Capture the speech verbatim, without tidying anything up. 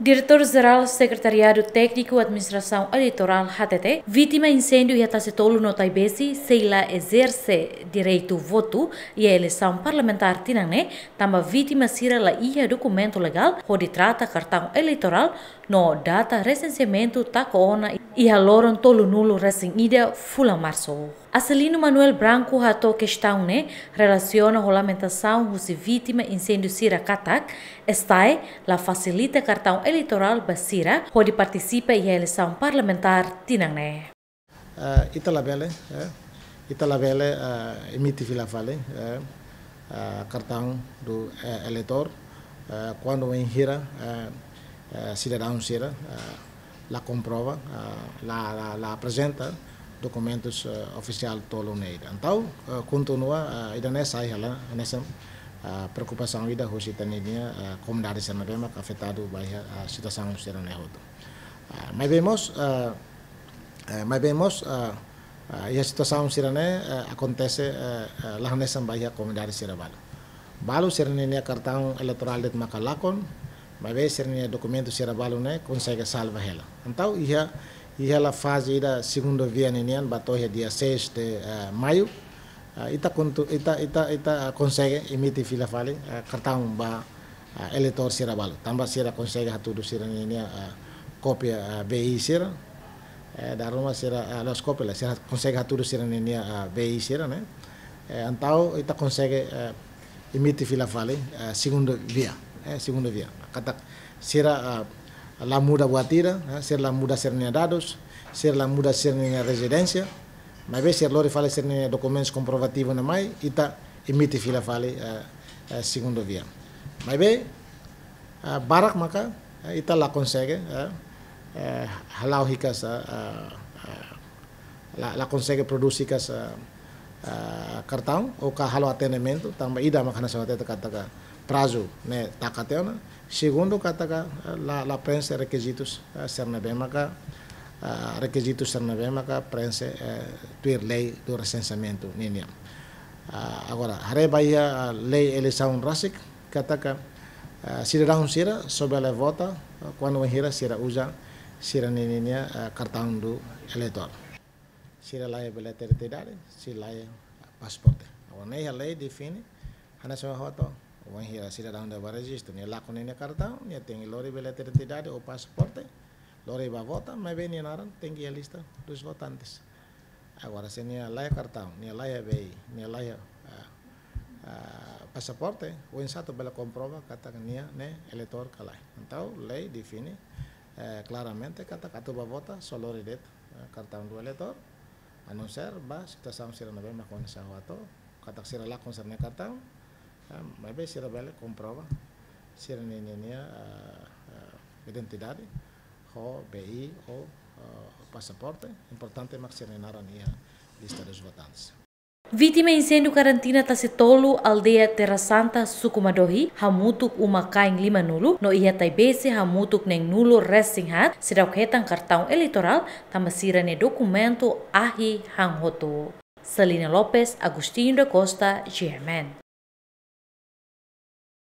Diretór Jerál Sekretariadu Tékniku Administrasaun Eleitorál hatete, vítima inséndiu iha Tasi Tolu no Taibesi sei la ezerse direitu votu iha eleisaun parlamentár tinan ne'e, tanba vítima sira la iha dokumentu legál hodi trata kartaun eleitorál no data resenseamentu taka ona iha loron tolunulu resin ida fulan Marsu. Acelino Manuel Branco hato'o kestaun ne'e relasiona ho lamentasaun husi vítima inséndiu sira katak, STAE la fasilita kartaun eleitorál ba sira hodi partisipa iha eleisaun parlamentár tinan ne'e. Eh, ita labele, eh, ita labele, eh, emite fila fali, eh, eh, kartaun do, eh, eleitór, eh, kuandu wainhira, eh, eh, sidadaun sira, eh, la komprova, eh, la, la, la aprezenta dokumentus, eh, ofisiál tolu ne'e. Entaun, eh, kontinua, eh, ida-ne'e sai hela, hanesan, eh, preokupasaun ida husi ita-nia, eh, komunidade sira ne'ebé mak afetadu ba iha, eh, situasaun sira-ne'e hotu. Eh, maibé mós, eh, eh, maibé mós, eh, eh, iha situasaun sira-ne'e, eh, akontese, eh, eh, la hanesan ba iha komunidade sira balu. Balu sira-ninia kartaun eleitorál de'it maka lakon, maibé sira-ninia dokumentu sira balu ne'e konsege salva hela. Entaun, iha, iha hela faze ida segundu via ninian ba to'o iha dia seis de, eh, Maiu. Eh, ita kontu-, ita, ita, ita, eh, konsege emite fila fali, eh, kartaun ba, eh, eleitór sira balu. Tanba sira konsege hatudu sira-ninia, eh, kópia, eh, V I sira. Eh, dala ruma sira, eh, la'ós kópia lae, sira konsege hatudu sira-ninia, eh, V I sira ne'e. Eh, entaun ita konsege, eh, emite fila fali, eh, segundu via, eh, segundu via. Katak sira, eh, la muda buat ida, eh, sira la muda sira-nia dadus, sira la muda sira-nia rezidénsia, maibé sira lori fali sira-nia dokumentus komprovativu ne'e mai, ita emite fila fali, eh, eh, segundu via. Maibé, eh, barak maka, eh, ita la konsege, eh, eh, hala'o hikas, eh, eh, eh, la, la konsege prodús hikas, eh, eh, kartaun, ou ka halo atendimentu, tanba ida maka hanesan hatete katak prazu ne'e taka tiha ona. Segundu katak, eh, la, la prenxe rekizitus, eh, sira ne'ebé maka, eh, rekizitus sira ne'ebé maka prenxe, eh, tuir lei do resenseamentu ninian. Ah, agora, haree ba iha, ah, lei eleisaun rasik, katak, ah, sidadaun sira só bele vota, ah, kuandu wainhira sira uza sira-ninia, ah, kartaun do eleitór. Sira la iha bilhete identidade, sira la iha pasaporte. Agora, ne'e iha lei define, hanesan ohin hato'o, wainhira sidadaun ida ba rejistu, nia lakon ninia kartaun, nia tenke lori bilhete identidade ou pasaporte, lori ba vota, maibé nia naran tenke iha lista dos votantes. Agora, se nia la iha kartaun, nia la iha V I, nia la iha, ah, ah, pasaporte, oinsá atu bele komprova katak nia ne'e eleitór ka lae. Entaun, lei define, eh, klaramente katak atu ba vota, só lori de'it, eh, kartaun do eleitór, a não ser ba situasaun sira ne'ebé mak ohin ha'u hato'o, katak sira lakon sira-nia kartaun, eh, maibé sira bele komprova sira-ninia, eh, eh, identidade, ho V I ou, eh, pasaporte, importante mak sira-nia naran iha lista dos votantes. Vítima inséndiu karantina Tasi Tolu, aldeia Terra Santa, suku Madohi, hamutuk uma-kain limanulu, no iha Taibesi hamutuk neenulu resin haat, seidauk hetan kartaun eleitorál, tanba sira-nia dokumentu ahi han hotu. Celina Lopes, Agostinho da Costa, G M N.